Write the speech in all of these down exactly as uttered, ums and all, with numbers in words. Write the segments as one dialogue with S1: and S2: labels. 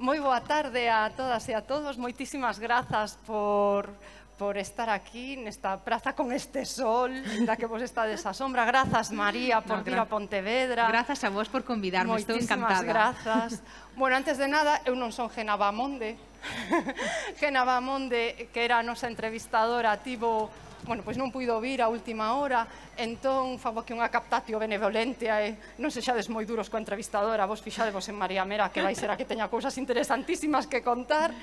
S1: Moi boa tarde a todas e a todos. Moitísimas grazas por, por estar aquí nesta praza con este sol, da que vos estades a sombra. Grazas, María, por
S2: No,
S1: vir a Pontevedra.
S2: Grazas a vos por convidarme, estou
S1: Moitísimas
S2: encantada.
S1: grazas. Bueno, antes de nada, eu non son Gena Bamonde. Gena Bamonde, que era a nosa entrevistadora, tivo... Bueno, pois non puido vir a última hora, entón fago aquí unha captatio benevolente e non sexades moi duros coa entrevistadora, vos fixadevos en María Mera, que vai ser a que teña cousas interesantísimas que contar.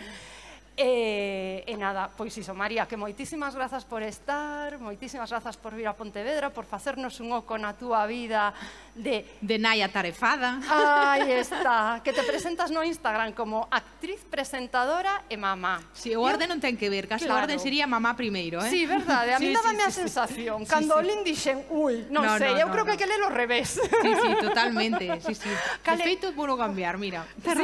S1: E, e nada, pois iso, María, que moitísimas grazas por estar, moitísimas grazas por vir a Pontevedra, por facernos un oco na túa vida de...
S2: De nai atarefada.
S1: Aí está, que te presentas no Instagram como actriz, presentadora e mamá.
S2: Si, o orden non ten que ver, casi o orden sería mamá primeiro, eh?
S1: Sí, verdade, a mí dábame a sensación, cando o lin dixen, ui, non sei, eu creo que hai que ler ao revés.
S2: Sí, sí, totalmente, sí, sí. De feito, vou cambiar, mira.
S1: Sí,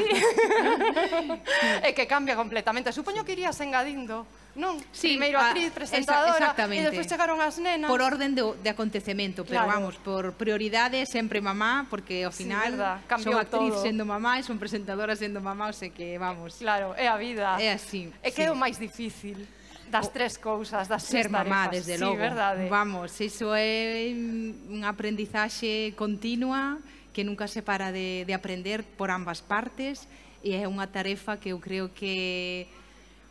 S1: é que cambia completamente. Supoño que irías engadindo, non?
S2: Sí,
S1: primeiro actriz, presentadora, e despois chegaron as nenas.
S2: Por orden de, de acontecemento, pero
S1: Claro.
S2: vamos, por prioridade sempre mamá, porque ao
S1: Sí,
S2: final
S1: verdad,
S2: son
S1: cambiou
S2: actriz
S1: todo.
S2: sendo mamá e son presentadora sendo mamá, o sei que, vamos,
S1: Claro, é a vida.
S2: é así.
S1: É que
S2: sí.
S1: é o máis difícil das tres cousas, das tres
S2: Ser mamá,
S1: tarefas.
S2: desde
S1: Sí,
S2: logo.
S1: verdade.
S2: Vamos, iso é unha aprendizaxe continua que nunca se para de, de aprender por ambas partes e é unha tarefa que eu creo que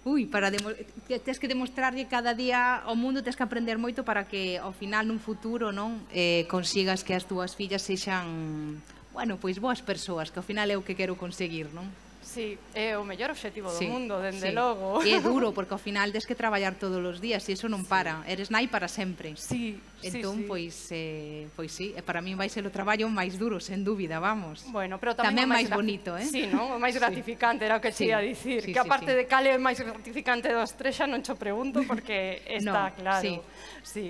S2: ui, para demo, tens que demostrarlle cada día ao mundo, tens que aprender moito para que ao final nun futuro non eh, consigas que as túas fillas sexan, bueno, pois boas persoas, que ao final é o que quero conseguir, non?
S1: Sí, é o mellor obxectivo do
S2: Sí,
S1: mundo, dende
S2: sí.
S1: logo.
S2: E é duro, porque ao final tens que traballar todos os días e iso non para. Eres nai para sempre.
S1: Sí,
S2: entón,
S1: sí, sí.
S2: pois, eh, pois sí, e para min vai ser o traballo máis duro, sen dúbida, vamos.
S1: Bueno, pero tamén,
S2: Tamén
S1: o
S2: máis bonito, eh?
S1: Sí, non? O máis gratificante, era o que
S2: Sí.
S1: che ia dicir.
S2: Sí,
S1: Que
S2: sí,
S1: aparte
S2: sí.
S1: de cal é o máis gratificante dos tres, xa non cho pregunto, porque está
S2: No,
S1: claro.
S2: sí.
S1: Sí.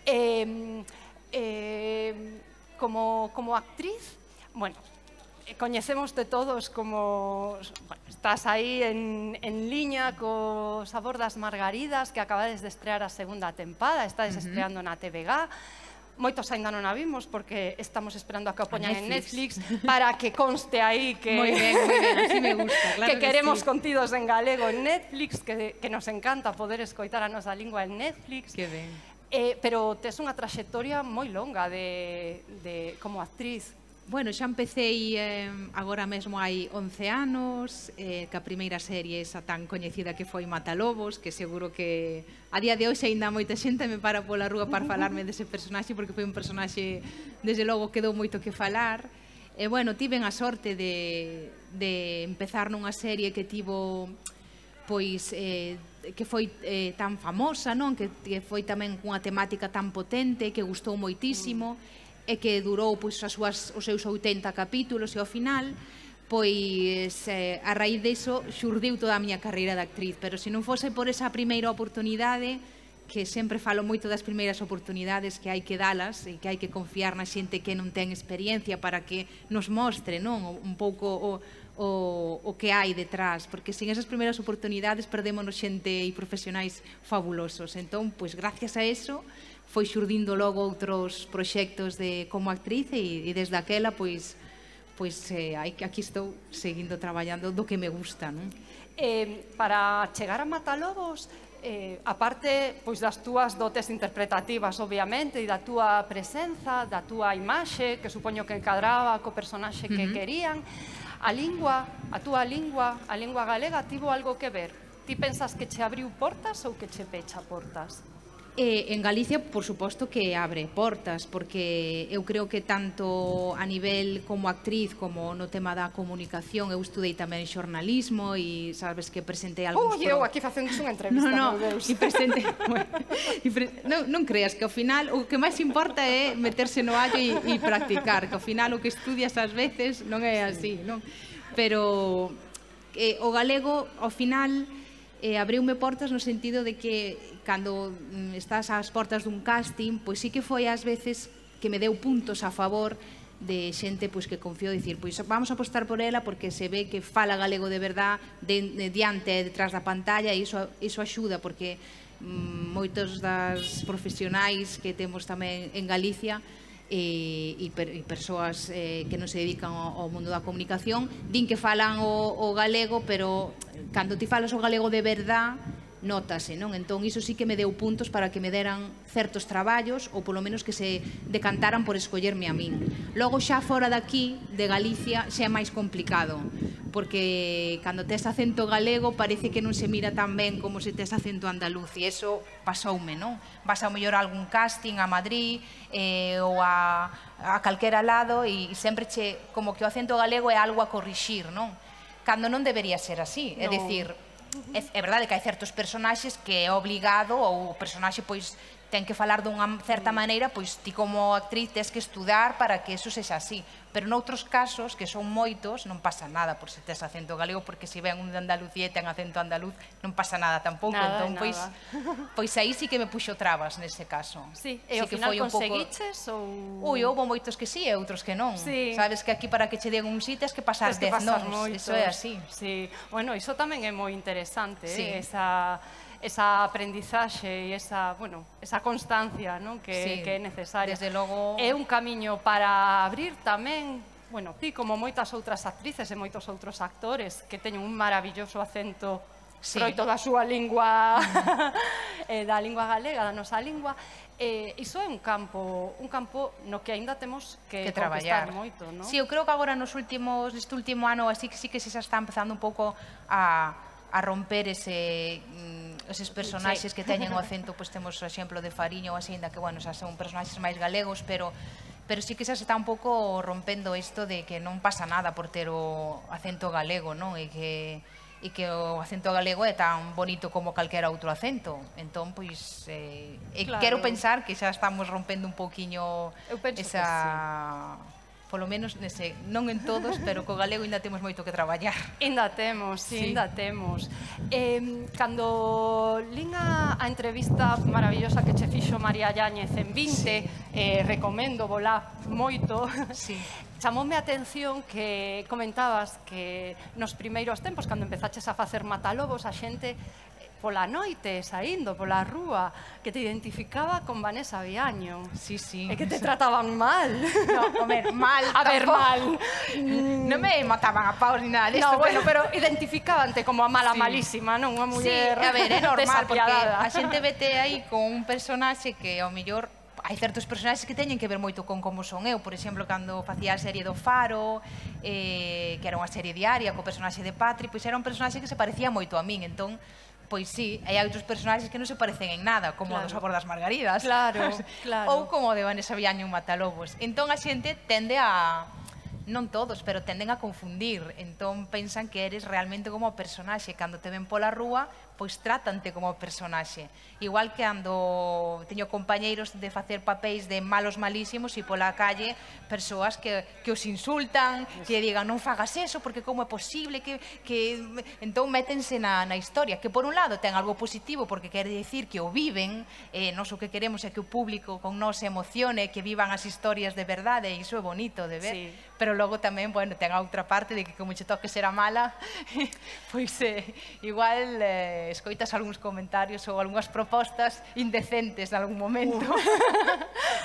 S1: Eh, eh, como, como actriz, bueno, eh, coñecémoste todos como... Bueno, estás aí en, en liña co Sabor das Margaridas, que acabades de estrear a segunda tempada, estades uh -huh. estreando na T V G. Moitos ainda non a vimos porque estamos esperando a que o poñan en Netflix para que conste aí que
S2: Moi ben, moi ben, así me gusta, claro
S1: que
S2: que
S1: queremos
S2: sí.
S1: contidos en galego en Netflix, que, que nos encanta poder escoitar a nosa lingua en Netflix.
S2: Que ben.
S1: Eh, pero tes unha traxectoria moi longa de, de, como actriz.
S2: Bueno, xa empecéi eh, agora mesmo hai once anos, eh, que a primeira serie esa tan coñecida que foi Matalobos, que seguro que a día de hoxe aínda moita xente me para pola rúa para falarme dese personaxe, porque foi un personaxe, desde logo, quedou moito que falar. E, bueno, tiven a sorte de, de empezar nunha serie que tivo, pois, eh, que foi eh, tan famosa, non? Que, que foi tamén cunha temática tan potente, que gustou moitísimo, e que durou pois, as súas, os seus oitenta capítulos e ao final pois eh, a raíz diso xurdiu toda a miña carreira de actriz, pero se non fose por esa primeira oportunidade, que sempre falo moito das primeiras oportunidades que hai que dalas e que hai que confiar na xente que non ten experiencia para que nos mostre, non, un pouco o, o, o que hai detrás, porque sin esas primeiras oportunidades perdémonos xente e profesionais fabulosos. Entón, pois gracias a eso foi xurdindo logo outros proxectos de como actriz e, e desde aquela pois pois eh, aquí estou seguindo traballando do que me gusta, non?
S1: Eh, para chegar a Matalobos, eh, aparte pois das túas dotes interpretativas, obviamente, e da túa presenza, da túa imaxe, que supoño que encadraba co personaxe que uh -huh. querían, a lingua, a túa lingua, a lingua galega, tivo algo que ver? Ti pensas que che abriu portas ou que che pecha portas?
S2: Eh, en Galicia, por suposto que abre portas, porque eu creo que tanto a nivel como actriz como no tema da comunicación, eu estudei tamén xornalismo e sabes que presentei algúns...
S1: Ui, eu aquí facendo unha entrevista,
S2: no, no,
S1: meu Deus.
S2: E presentei... bueno, e pre... non, non creas que ao final o que máis importa é meterse no allo e, e practicar, que ao final o que estudias ás veces non é así, non? Pero eh, o galego ao final eh, abriume portas no sentido de que cando mm, estás ás portas dun casting, pois sí que foi ás veces que me deu puntos a favor de xente pois que confiou dicir, pois vamos a apostar por ela porque se ve que fala galego de verdad de, de diante e detrás da pantalla e iso, iso axuda porque mm, moitos das profesionais que temos tamén en Galicia e, e, per, e persoas eh, que non se dedican ao, ao mundo da comunicación din que falan o, o galego, pero cando ti falas o galego de verdad notase, non? Entón, iso sí que me deu puntos para que me deran certos traballos ou polo menos que se decantaran por escollerme a min. Logo, xa fora daqui, de Galicia, xa é máis complicado, porque cando tes acento galego parece que non se mira tan ben como se tes acento andaluz, e iso pasoume, non? Vas ao mellor a algún casting a Madrid eh, ou a, a calquera lado e sempre che, como que o acento galego é algo a corrixir, non? Cando non debería ser así, é dicir, é, é verdade que hai certos personaxes que é obligado ou o personaxe pois ten que falar dunha certa maneira, pois ti como actriz tes que estudar para que eso sexa así, pero noutros casos, que son moitos, non pasa nada por se tes acento galego, porque se ven un de Andalucía e ten acento andaluz, non pasa nada tampouco,
S1: nada,
S2: entón pois pois aí sí que me puxo trabas nese caso.
S1: Sí, e ao final conseguiches ou
S2: Ui, houve moitos que sí e outros que non.
S1: Sí.
S2: Sabes que aquí para que che den un sí tes que pasar dez nons, eso é así.
S1: Sí, bueno, iso tamén é moi interesante,
S2: sí.
S1: eh? esa esa aprendizaxe e esa, bueno, esa constancia, non? Que,
S2: sí,
S1: que é necesaria.
S2: Desde logo
S1: é un camiño para abrir tamén, bueno, ti como moitas outras actrices e moitos outros actores que teñen un maravilloso acento sí. froito da súa lingua, eh, da lingua galega, da nosa lingua. Eh, iso é un campo, un campo no que aínda temos que,
S2: que traballar
S1: moito, non?
S2: Si, sí, eu creo que agora nos últimos, neste último ano así que sí que se xa está empezando un pouco a a romper ese, mm, eses personaxes sí. que teñen o acento, pois temos o exemplo de Fariña ou así, ainda que, bueno, xa son personaxes máis galegos, pero pero sí que xa se está un pouco rompendo isto de que non pasa nada por ter o acento galego, non? E que e que o acento galego é tan bonito como calquera outro acento. Entón, pois, eh, claro. quero pensar que xa estamos rompendo un pouquiño esa... polo menos, nese, non en todos, pero co galego ainda temos moito que traballar.
S1: Ainda temos, sí, ainda temos. Eh, cando lín a, a entrevista maravillosa que che fixo María Yáñez en vinte, sí. eh, recomendo volá moito,
S2: sí.
S1: chamoume a atención que comentabas que nos primeiros tempos, cando empezaches a facer Matalobos, a xente pola noite, saindo pola rúa, que te identificaba con Vanessa Viaño.
S2: Sí, sí.
S1: E que te trataban mal.
S2: No, comer, mal.
S1: A ver, mal.
S2: Non me mataban a paus ni nada disto.
S1: No, bueno, pero identificábante como a mala
S2: sí.
S1: malísima, non? Unha muller
S2: sí, a ver, é normal, porque
S1: desapiadada.
S2: a xente vete aí con un personaxe que ao mellor hai certos personaxes que teñen que ver moito con como son eu. Por exemplo, cando facía a serie do Faro, eh, que era unha serie diaria co personaxe de Patri, pois era un personaxe que se parecía moito a min, entón pois sí, hai outros personaxes que non se parecen en nada, como claro. o do Sabor das Margaridas.
S1: Claro, claro.
S2: Ou como o de Vanessa Viaño en Matalobos. Entón a xente tende a... non todos, pero tenden a confundir. Entón pensan que eres realmente como o personaxe. Cando te ven pola rúa, pois trátante como o personaxe. Igual que ando teño compañeiros de facer papéis de malos malísimos e pola calle persoas que, que os insultan, que digan non fagas eso porque como é posible que, que... entón métense na, na historia, que por un lado ten algo positivo porque quere dicir que o viven, eh, nos o que queremos é que o público con nos se emocione, que vivan as historias de verdade, e iso é bonito de ver, sí. pero logo tamén, bueno, ten a outra parte de que como che toque ser a mala, pois eh, igual eh, escoitas algúns comentarios ou algunhas propostas indecentes en algún momento.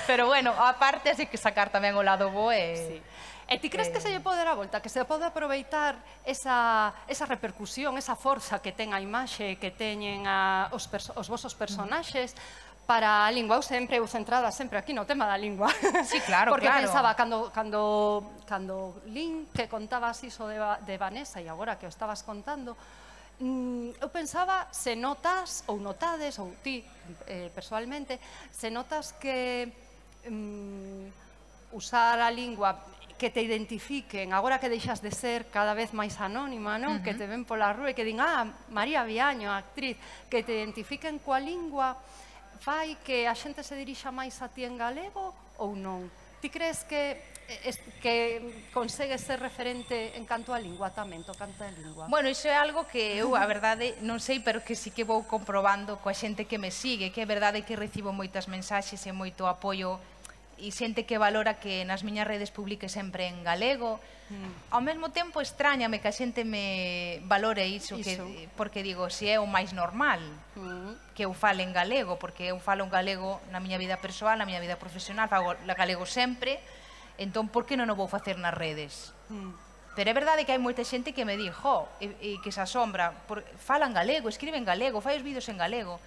S2: Pero bueno, a parte hai que sacar tamén o lado bo e...
S1: Sí. E ti crees eh... que se lle pode dar a volta, que se pode aproveitar esa, esa repercusión, esa forza que ten a imaxe, que teñen a, os, os vosos personaxes, para a lingua? Eu sempre, eu centrada sempre aquí no tema da lingua.
S2: Sí, claro,
S1: porque
S2: claro.
S1: pensaba, cando, cando, cando lín que contabas iso de, de Vanessa e agora que o estabas contando, mm, eu pensaba se notas, ou notades, ou ti eh, personalmente, se notas que mm, usar a lingua que te identifiquen, agora que deixas de ser cada vez máis anónima, non? Uh -huh. Que te ven pola rúa e que din, ah, María Viaño, actriz, que te identifiquen coa lingua, fai que a xente se dirixa máis a ti en galego ou non? Ti crees que que consegues ser referente en canto a lingua tamén, tocante a lingua?
S2: Bueno, iso é algo que eu, a verdade, non sei, pero que sí que vou comprobando coa xente que me sigue, que é verdade que recibo moitas mensaxes e moito apoio
S3: e xente que valora que nas miñas redes publique sempre en galego. Ao mesmo tempo, extrañame que a xente me valore iso, porque digo, se é o máis normal que eu fale en galego, porque eu falo en galego na miña vida persoal, na miña vida profesional, falo galego sempre, entón, por que non o vou facer nas redes? Pero é verdade que hai moita xente que me di, jo, e que se asombra, fala en galego, escribe en galego, fai os vídeos en galego.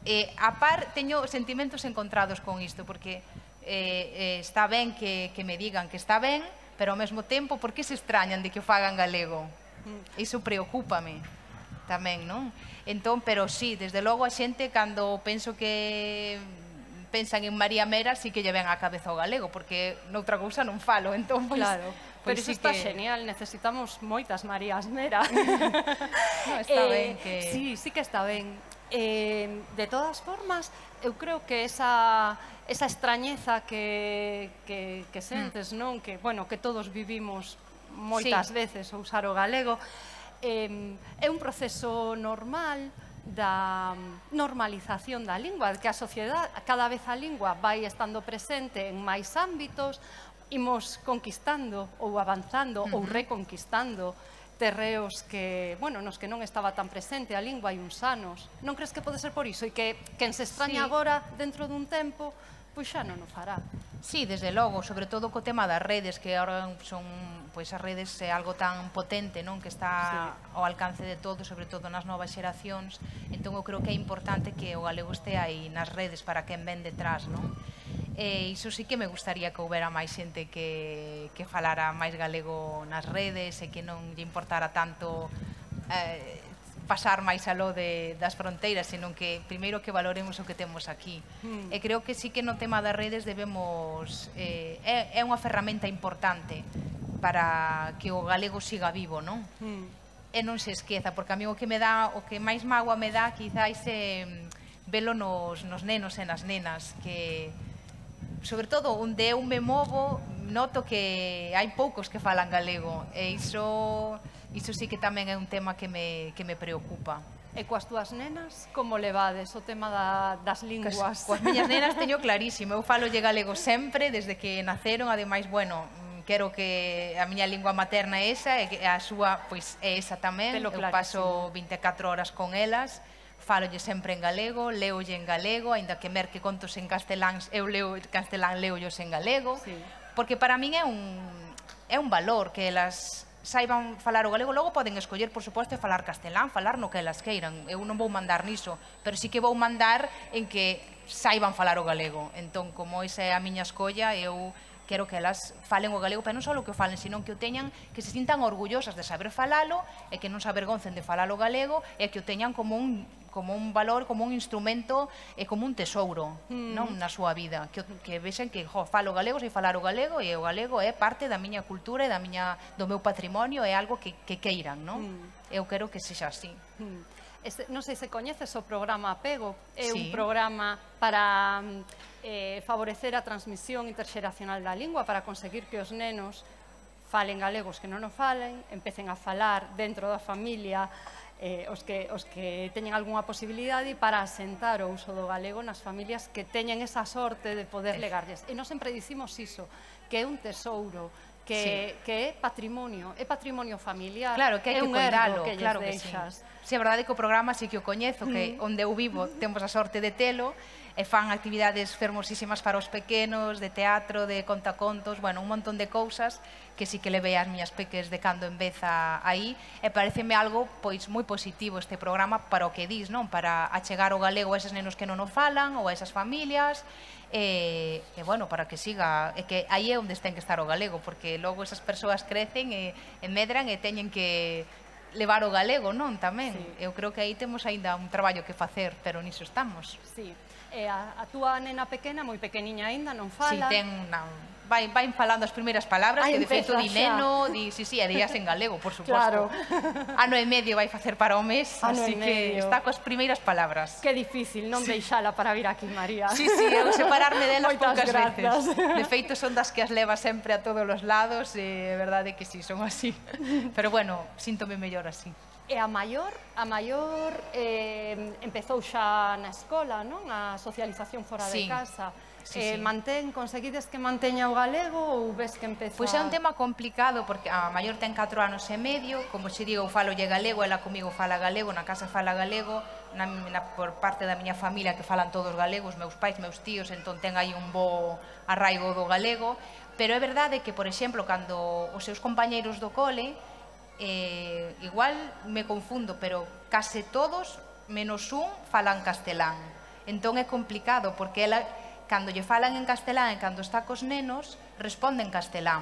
S3: E, a par, teño sentimentos encontrados con isto, porque está ben que me digan que está ben, pero ao mesmo tempo, por que se extrañan de que o fagan galego? Iso preocúpame tamén, non? Entón, pero sí, desde logo a xente, cando penso que pensan en María Mera, sí que lle ven á cabeza o galego, porque noutra cousa non falo, entón, pois...
S1: Claro, pero iso está genial, necesitamos moitas Marías Mera.
S3: Está ben que...
S1: Sí, sí que está ben. De todas formas, eu creo que esa extrañeza que sentes, non? Que, bueno, que todos vivimos moitas veces a usar o galego, é un proceso normal da normalización da lingua, que a sociedade, cada vez a lingua vai estando presente en máis ámbitos, imos conquistando ou avanzando ou reconquistando terreos que, bueno, nos que non estaba tan presente a lingua hai uns anos. Non crees que pode ser por iso? E que quen se extraña agora, dentro dun tempo, pois xa non o fará.
S3: Sí, desde logo, sobre todo co tema das redes, que agora son, pois as redes é algo tan potente, non? Que está ao alcance de todos, sobre todo nas novas xeracións. Entón, eu creo que é importante que o galego este aí nas redes para quen ven detrás, non? E iso sí que me gustaría que houbera máis xente que falara máis galego nas redes e que non lle importara tanto pasar máis aló das fronteiras, senón que primeiro que valoremos o que temos aquí. E creo que sí que no tema das redes debemos... É unha ferramenta importante para que o galego siga vivo, non? E non se esqueza, porque a mí o que me dá, o que máis mágoa me dá, quizáis é velo nos nenos e nas nenas, que... sobre todo onde eu me movo, noto que hai poucos que falan galego, e iso sí que tamén é un tema que me preocupa.
S1: E coas túas nenas, como levades o tema das linguas?
S3: Coas miñas nenas teño clarísimo, eu falolle galego sempre, desde que naceron, ademais, bueno, quero que a miña lingua materna é esa, e a súa, pois, é esa tamén, eu paso vinte e catro horas con elas, falolle sempre en galego, leolle en galego, aínda que merque contos en castelán, eu leo castelán, leollos en galego, porque para min é un valor que elas saiban falar o galego. Logo poden escoller, por suposto, falar castelán, falar no que elas queiran, eu non vou mandar niso, pero sí que vou mandar en que saiban falar o galego. Entón, como esa é a miña escolla, eu quero que elas falen o galego, pero non só que o falen, senón que o teñan, que se sintan orgullosas de saber falalo, e que non se avergoncen de falar o galego, e que o teñan como un como un valor, como un instrumento e como un tesouro na súa vida, que vexen que falo galego, sei falar o galego, e o galego é parte da miña cultura e do meu patrimonio, é algo que queiran, non? Eu quero que sexa así.
S1: Non sei se coñeces o programa Apego, é un programa para favorecer a transmisión interxeracional da lingua, para conseguir que os nenos falen galegos que non o falen, empecen a falar dentro da familia os que teñen algunha posibilidade, para asentar o uso do galego nas familias que teñen esa sorte de poder legarlles. E non sempre dicimos iso, que é un tesouro, que é patrimonio, é patrimonio familiar.
S3: Claro, que hai que cuidalo, claro que sí. Si é verdade que o programa sí que o coñezo, que onde eu vivo temos a sorte de telo, e fan actividades fermosísimas para os pequenos, de teatro, de contacontos, bueno, un montón de cousas que sí que levei as miñas peques de cando en vez aí, e pareceme algo pois moi positivo este programa para o que dis, non? Para achegar o galego a eses nenos que non o falan, ou a esas familias, e, bueno, para que siga, e que aí é onde ten que estar o galego, porque logo esas persoas crecen e medran e teñen que levar o galego, non? Tamén. Eu creo que aí temos aínda un traballo que facer, pero niso estamos.
S1: Sí. E a túa nena pequena, moi pequeniña aínda, non fala?
S3: Si, ten... Vai falando as primeiras palabras, que de feito di neno, di, si, si, e días en galego, por suposto. Ano e medio vai facer para o mes, así que está coas primeiras palabras.
S1: Que difícil non deixala para vir aquí, María.
S3: Si, si, eu separarme delas poucas veces. De feito, son das que as leva sempre a todos os lados, e é verdade que si, son así. Pero bueno, síntome mellor así.
S1: E a maior, a maior eh, empezou xa na escola, non? A socialización fora
S3: Sí.
S1: de casa.
S3: Sí,
S1: eh,
S3: sí.
S1: Mantén, conseguides que manteña o galego ou ves que empeza...
S3: Pois é un tema complicado porque a maior ten catro anos e medio, como xe digo, eu falo lle galego, ela comigo fala galego, na casa fala galego, na, na, por parte da miña familia que falan todos galegos, meus pais, meus tíos, entón ten aí un bo arraigo do galego, pero é verdade que, por exemplo, cando os seus compañeiros do cole, eh, igual me confundo, pero case todos, menos un, falan castelán. Entón é complicado, porque ela, cando lle falan en castelán e cando está cos nenos, responde en castelán.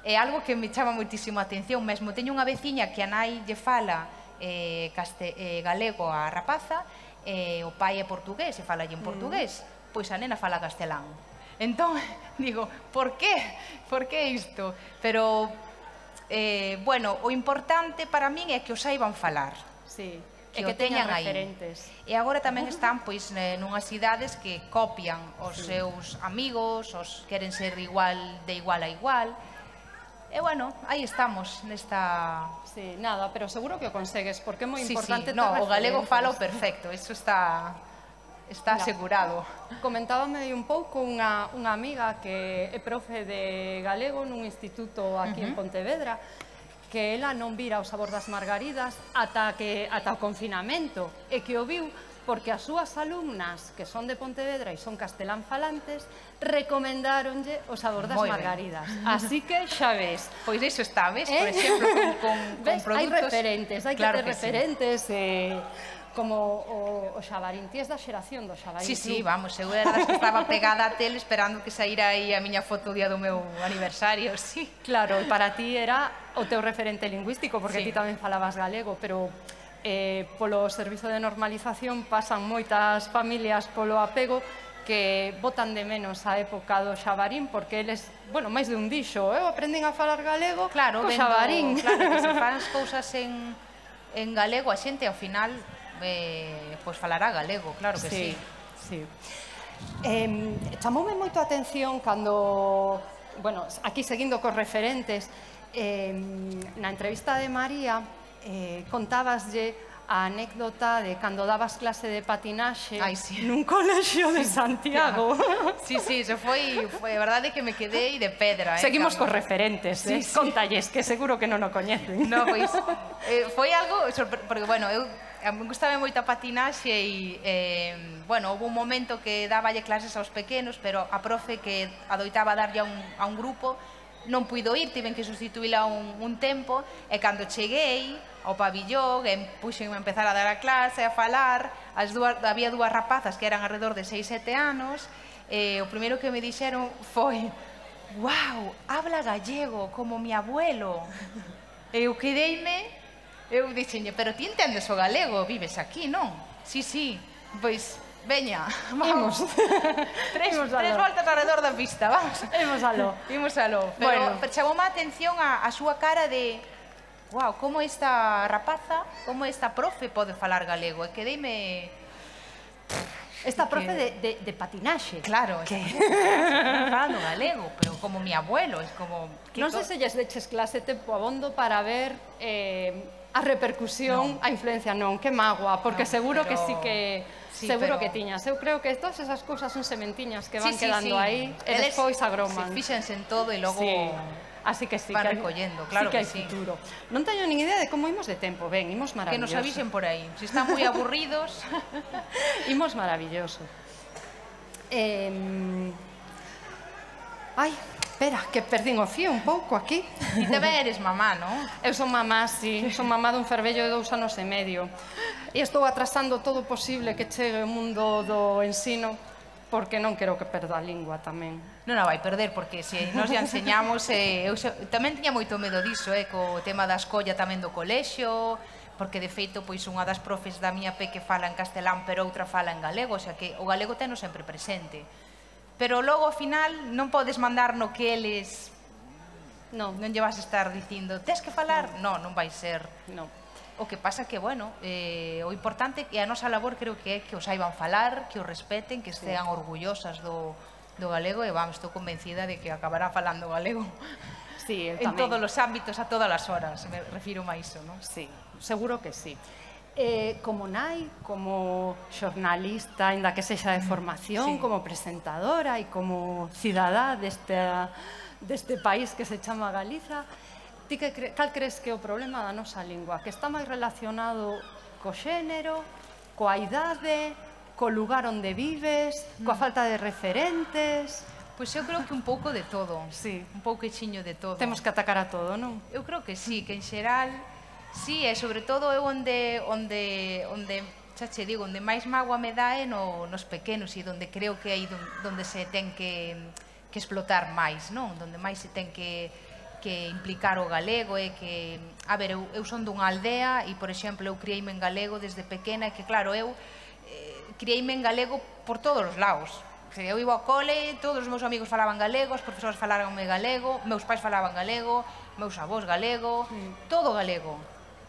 S3: É algo que me chama moitísimo a atención, mesmo teño unha veciña que a nai lle fala eh, caste, eh, galego a rapaza, e eh, o pai é portugués e fala en portugués, mm. pois a nena fala castelán. Entón, digo, por qué? Por que isto? Pero, eh, bueno, o importante para min é que o saiban falar.
S1: Sí.
S3: Que,
S1: e que
S3: o teñan aí.
S1: referentes.
S3: E agora tamén están pois nunhas idades que copian os sí. seus amigos, os queren ser igual de igual a igual. E bueno, aí estamos nesta...
S1: Sí, nada, pero seguro que o consegues, porque é moi
S3: sí,
S1: importante
S3: sí. No, o galego falo
S1: referentes.
S3: perfecto, eso está está
S1: Mira,
S3: asegurado.
S1: Comentábame un pouco unha, unha amiga que é profe de galego nun instituto aquí uh -huh. en Pontevedra, que ela non vira o sabor das margaridas ata, que, ata o confinamento, e que o viu porque as súas alumnas, que son de Pontevedra e son castelán falantes, recomendáronlle o sabor das
S3: Moi
S1: margaridas. Ben. Así que xa ves.
S3: Pois iso está, ves?
S1: Eh?
S3: Por exemplo, con, con,
S1: ves?
S3: con produtos...
S1: Hai referentes, hai
S3: claro
S1: que ter
S3: que
S1: referentes, sí. eh, como o, o xabarín. Ti es da xeración do xabarín.
S3: Sí, sí,
S1: club.
S3: vamos, eu era das que estaba pegada a tele esperando que saíra aí a miña foto o día do meu aniversario, sí.
S1: Claro, e para ti era o teu referente lingüístico, porque
S3: Sí.
S1: ti tamén falabas galego, pero eh, polo servizo de normalización pasan moitas familias polo apego que botan de menos a época do xabarín, porque eles, bueno, máis de un dixo, eu aprendín a falar galego
S3: Claro,
S1: co
S3: vendo,
S1: xabarín.
S3: claro, que se fan as cousas en, en galego, a xente ao final eh, pois falará galego, claro que sí.
S1: Sí, sí. Eh, chamoume moito a atención cando, bueno, aquí seguindo cos referentes, eh, na entrevista de María eh, contabaslle a anécdota de cando dabas clase de patinaxe
S3: Ai, sí.
S1: nun colexio de Santiago.
S3: Sí, sí, eso foi, foi a verdade que me quedei de pedra. Eh,
S1: Seguimos
S3: cando...
S1: cos referentes,
S3: Sí,
S1: eh?
S3: sí.
S1: Contalles, que seguro que non o coñecen.
S3: No, pois, eh, foi algo, sorpre... porque, bueno, eu me gustaba moito a patinaxe e, eh, bueno, houve un momento que dáballe clases aos pequenos, pero a profe que adoitaba darlle a un, a un grupo non puido ir, tiven que sustituíla un, un tempo, e cando cheguei ao pabillón, e puxenme a empezar a dar a clase, a falar, as dúas, había dúas rapazas que eran alrededor de seis, sete anos, e o primeiro que me dixeron foi: «Wow, habla gallego, como mi abuelo». E eu quedeime, eu dixenlle, pero ti entendes o galego, vives aquí, non? Sí, sí, pois, veña, vamos. tres,
S1: Imos
S3: tres
S1: aló.
S3: voltas alrededor da pista, vamos.
S1: Imos aló.
S3: Imos aló. Pero
S1: Bueno.
S3: chamoume a atención a, a súa cara de wow, como esta rapaza, como esta profe pode falar galego. E quedeime...
S1: Esta
S3: que-
S1: profe de, de, de patinaxe.
S3: Claro,
S1: Que...
S3: falando galego, pero como mi abuelo, es como... que
S1: Non
S3: co-
S1: sei se lles deches clase tempo abondo para ver eh, a repercusión,
S3: Non.
S1: a influencia, non, que magua, porque
S3: Non,
S1: seguro que
S3: pero-
S1: sí que
S3: sí,
S1: seguro
S3: pero-
S1: que tiñas. Eu creo que todas esas cousas son sementiñas que van
S3: Sí, sí,
S1: quedando
S3: sí.
S1: aí e
S3: Eles
S1: despois agroman.
S3: Se fíxense en todo e logo...
S1: Sí. Así que sí,
S3: van
S1: que hai-
S3: recollendo, claro
S1: sí que,
S3: que
S1: hai
S3: sí.
S1: futuro. Non teño nin idea de como imos de tempo, ben, imos
S3: Que
S1: maravilloso.
S3: nos avisen por aí. Si están moi aburridos...
S1: Imos maravilloso. Eh... Ai, espera, que perdín o fío un pouco aquí.
S3: Ti tamén eres mamá, non?
S1: Eu son mamá, sí, son mamá dun fervello de dous anos e medio. E estou atrasando todo o posible que chegue o mundo do ensino, porque non quero que perda a lingua tamén.
S3: Non a vai perder, porque se nos ya enseñamos... Eh, eu se, tamén tiña moito medo diso, eh, co tema da escolla tamén do colexio, porque de feito pois unha das profes da miña peque fala en castelán, pero outra fala en galego, o sea que o galego teno sempre presente. Pero logo ao final non podes mandar no que eles
S1: Non,
S3: non lle vas a estar dicindo tes que falar, non, non vai ser.
S1: non.
S3: O que pasa que, bueno, eh, o importante é a nosa labor creo que é que os saiban falar, que os respeten, que estean orgullosas do, do galego e vamos, estou convencida de que acabarán falando galego.
S1: Sí, eu
S3: en
S1: tamén.
S3: todos os ámbitos, a todas as horas, me refiro a iso, non?
S1: Sí, seguro que sí. Eh, como nai, como xornalista, ainda que sexa de formación,
S3: Sí.
S1: como presentadora e como cidadá deste, deste país que se chama Galiza, ti que cre cal crees que é o problema da nosa lingua? Que está máis relacionado co xénero, coa idade, co lugar onde vives, coa falta de referentes?
S3: Pois eu creo que un pouco de todo,
S1: Sí.
S3: un pouquichiño de todo.
S1: Temos que atacar a todo, non?
S3: Eu creo que sí, que en xeral, sí, e sobre todo eu onde, onde, onde xa che digo, onde máis mágoa me dá é no, nos pequenos e onde creo que é aí donde se ten que, que explotar máis, non? Donde máis se ten que, que implicar o galego e que, a ver, eu, eu son dunha aldea e, por exemplo, eu criei-me en galego desde pequena e que, claro, eu eh, criei-me en galego por todos os lados. Eu iba ao cole, todos os meus amigos falaban galego, os profesores falaranme galego, meus pais falaban galego, meus avós galego, mm. todo galego.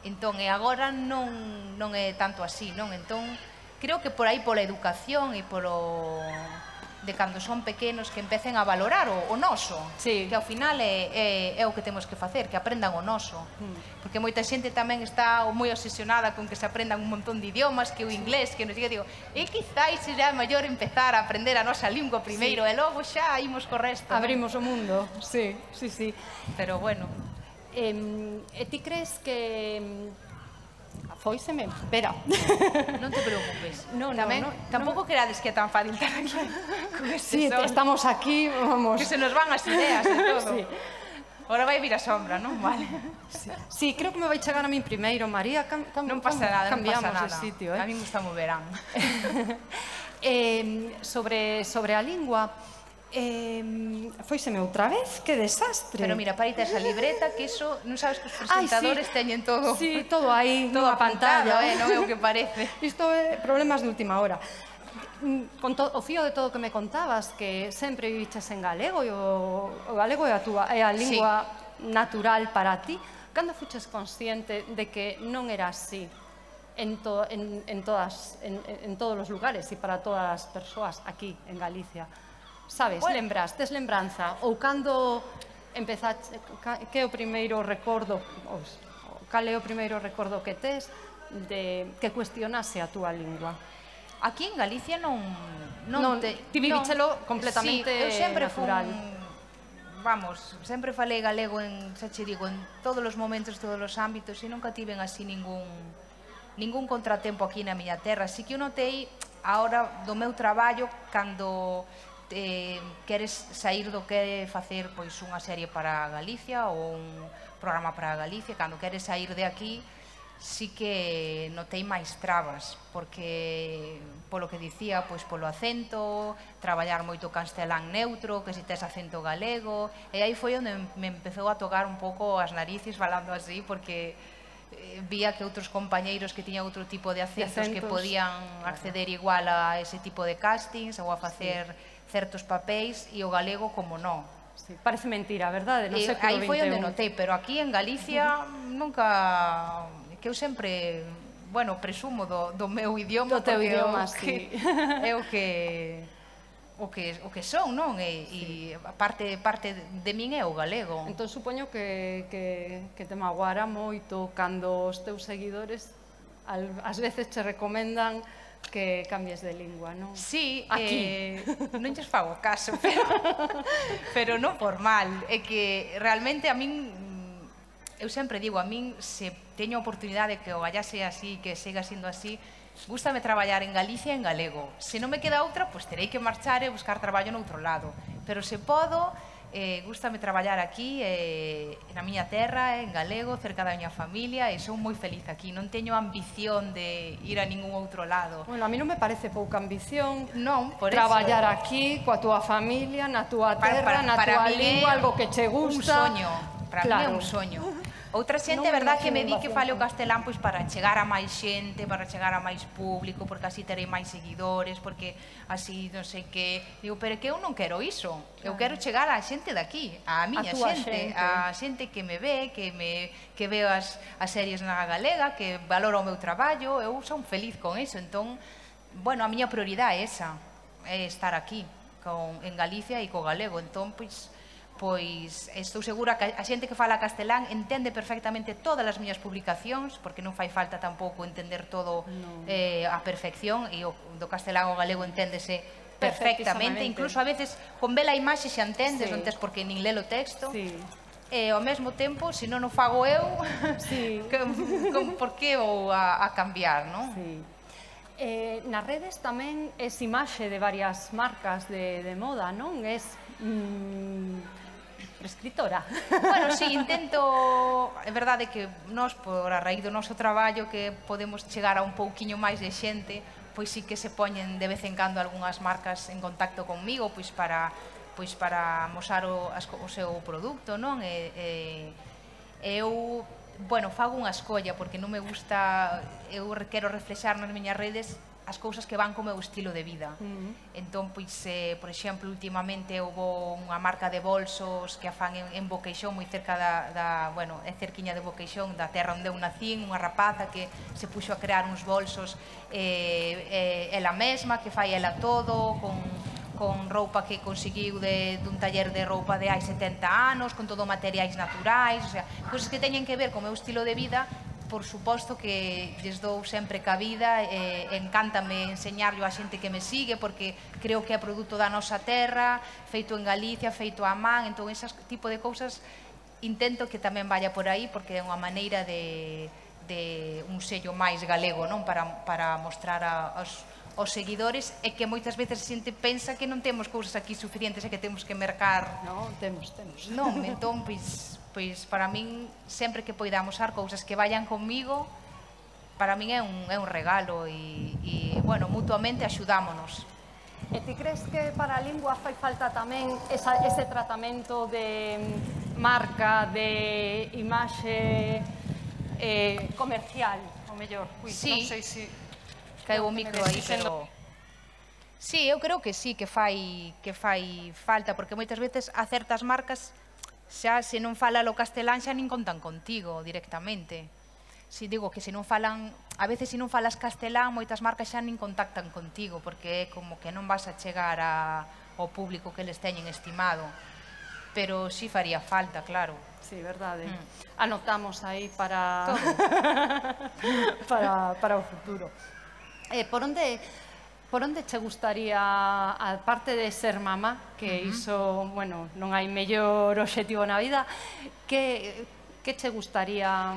S3: Entón, e agora non, non é tanto así, non? Entón, creo que por aí pola educación e polo de cando son pequenos que empecen a valorar o, o noso,
S1: sí.
S3: que ao final é, é, é o que temos que facer, que aprendan o noso. Mm. Porque moita xente tamén está moi obsesionada con que se aprendan un montón de idiomas, que o inglés, que non sei, digo, e quizáis será mellor empezar a aprender a nosa lingua primeiro, sí. E logo xa imos co resto.
S1: Abrimos
S3: ¿no?
S1: o mundo, sí, sí, sí.
S3: Pero bueno.
S1: Eh, e ti crees que... Foiseme, espera.
S3: Non te preocupes.
S1: No, no,
S3: tamén,
S1: no,
S3: tampouco
S1: no.
S3: querades que é tan fácil estar aquí con este
S1: Sí,
S3: sol.
S1: estamos aquí, vamos.
S3: Que se nos van as ideas e todo.
S1: Sí.
S3: Ahora vai vir a sombra, non? Vale.
S1: Sí. Sí, creo que me vai chegar a min primeiro, María. Cam, cam,
S3: non pasa nada, non pasa nada.
S1: De sitio, eh?
S3: A min gusta mo verán.
S1: eh, sobre, sobre a lingua, eh, foiseme outra vez, que desastre.
S3: Pero mira, para esa libreta, que iso, non sabes que os presentadores
S1: Ay, sí.
S3: teñen todo.
S1: Sí, todo aí,
S3: todo
S1: nunha pantalla.
S3: Eh, non é o que parece.
S1: Isto é problemas de última hora. Con to, o fío de todo o que me contabas, que sempre viviches en galego e o, o galego é a, túa, é a lingua sí. natural para ti, cando fuches consciente de que non era así en, to, en, en, todas, en, en todos os lugares e para todas as persoas aquí en Galicia? Sabes, bueno. lembras, tes lembranza? Ou cando empezaste, que é o primeiro recordo, ou, cal é o primeiro recordo que tes de que cuestionase a túa lingua?
S3: Aquí en Galicia non... non,
S1: non
S3: te,
S1: ti vivíchelo
S3: non,
S1: completamente
S3: sí, eu sempre
S1: natural.
S3: Fun, vamos, sempre falei galego en, xa che digo, en todos os momentos, todos os ámbitos e nunca tiven así ningún ningún contratempo aquí na miña terra. Así que eu notei agora do meu traballo cando eh, queres sair do que facer pois unha serie para Galicia ou un programa para Galicia, cando queres sair de aquí sí que notei máis trabas, porque polo que dicía, pois polo acento, traballar moito castelán neutro, que se tes acento galego, e aí foi onde me empezou a tocar un pouco as narices falando así, porque eh, vía que outros compañeiros que tiñan outro tipo de acentos, de acentos que podían acceder igual a ese tipo de castings ou a facer sí. certos papéis, e o galego como non.
S1: Sí, parece mentira, verdade? No
S3: e
S1: século
S3: aí foi onde
S1: veintiún.
S3: notei, pero aquí en Galicia uh-huh. nunca... que eu sempre, bueno, presumo do, do meu idioma,
S1: do teu idioma,
S3: o
S1: sí.
S3: que, é o que o que o que son, non? E, sí. e parte parte de min é o galego.
S1: Entón supoño que que que te magoara moito cando os teus seguidores al, ás veces che recomendan que cambies de lingua, non?
S3: Sí,
S1: aquí.
S3: Eh, non lles fago caso, pero pero non por mal, é que realmente a min eu sempre digo, a min se teño a oportunidade que o gallase así, que siga sendo así, gústame traballar en Galicia en galego. Se non me queda outra, pois terei que marchar e buscar traballo noutro lado. Pero se podo, eh, gústame traballar aquí, eh, na miña terra, en galego, cerca da miña familia, e sou moi feliz aquí. Non teño ambición de ir a ningún outro lado.
S1: Bueno, a mí non me parece pouca ambición
S3: non, por
S1: traballar
S3: eso,
S1: aquí, coa túa familia, na túa terra,
S3: para, para,
S1: na
S3: para
S1: túa lingua, algo que che gusta.
S3: Un soño, para
S1: claro.
S3: mí é un soño. Outra xente, é
S1: Non
S3: verdad, que me di
S1: imagino
S3: que fale o castelán pois para chegar a máis xente, para chegar a máis público, porque así terei máis seguidores, porque así non sei que... Digo, pero que eu non quero iso. Eu quero chegar á xente daqui, á miña xente, á xente que me ve, que me que veo as, as series na galega, que valora o meu traballo, eu son feliz con iso. Entón, bueno, a miña prioridade é esa, é estar aquí, con, en Galicia e co galego. Entón, pois, pois estou segura que a xente que fala castelán entende perfectamente todas as miñas publicacións, porque non fai falta tampouco entender todo a perfección, e o do castelán ao galego enténdese perfectamente, incluso a veces con ver a imaxe xa entendes, non tes porque nin ler o texto, e ao mesmo tempo, se non o fago eu, por que vou a cambiar, non?
S4: Nas redes tamén é imaxe de varias marcas de moda, non? É escritora.
S3: Bueno, sí, intento... É verdade que nós, por a raíz do noso traballo, que podemos chegar a un pouquiño máis de xente, pois sí que se poñen de vez en cando algunhas marcas en contacto conmigo, pois para pois para mostrar o seu produto, non? E eu, bueno, fago unha escolla, porque non me gusta, eu quero reflexar nas miñas redes as cousas que van co meu estilo de vida. Entón, pois, por exemplo, últimamente houve unha marca de bolsos que a fan en Boqueixón, moi cerca da, bueno, é cerquiña de Boqueixón, da terra onde eu nacín, unha rapaza que se puxo a crear uns bolsos ela mesma, que fai ela todo, con roupa que conseguiu dun taller de roupa de hai setenta anos, con todo materiais naturais, cousas que teñen que ver co meu estilo de vida. Por suposto que lles dou sempre cabida, encántame enseñarlo a xente que me sigue, porque creo que é produto da nosa terra, feito en Galicia, feito a man, entón ese tipo de cousas intento que tamén vaya por aí, porque é unha maneira de un sello máis galego, non? Para mostrar aos seguidores, e que moitas veces a xente pensa que non temos cousas aquí suficientes e que temos que mercar.
S4: Non, temos, temos.
S3: Non, entón, pois... pois para min, sempre que poidamos usar cousas que vayan comigo, para min é un regalo e, bueno, mutuamente axudámonos.
S4: E ti crees que para a lingua fai falta tamén ese tratamento de marca, de imaxe comercial, o mellor?
S3: Sí, caeu o micro aí, pero... Sí, eu creo que sí, que fai falta, porque moitas veces a certas marcas xa se non fala o castelán xa nin contan contigo directamente. Si digo que se non falan, a veces se non falas castelán, moitas marcas xa nin contactan contigo, porque é como que non vas a chegar ao público que les teñen estimado. Pero si faría falta, claro.
S4: Sí, verdade. Anotamos aí para para o futuro. Por onde... Por onde che gustaría, aparte de ser mamá, que iso, bueno, non hai mellor obxectivo na vida, que che gustaría,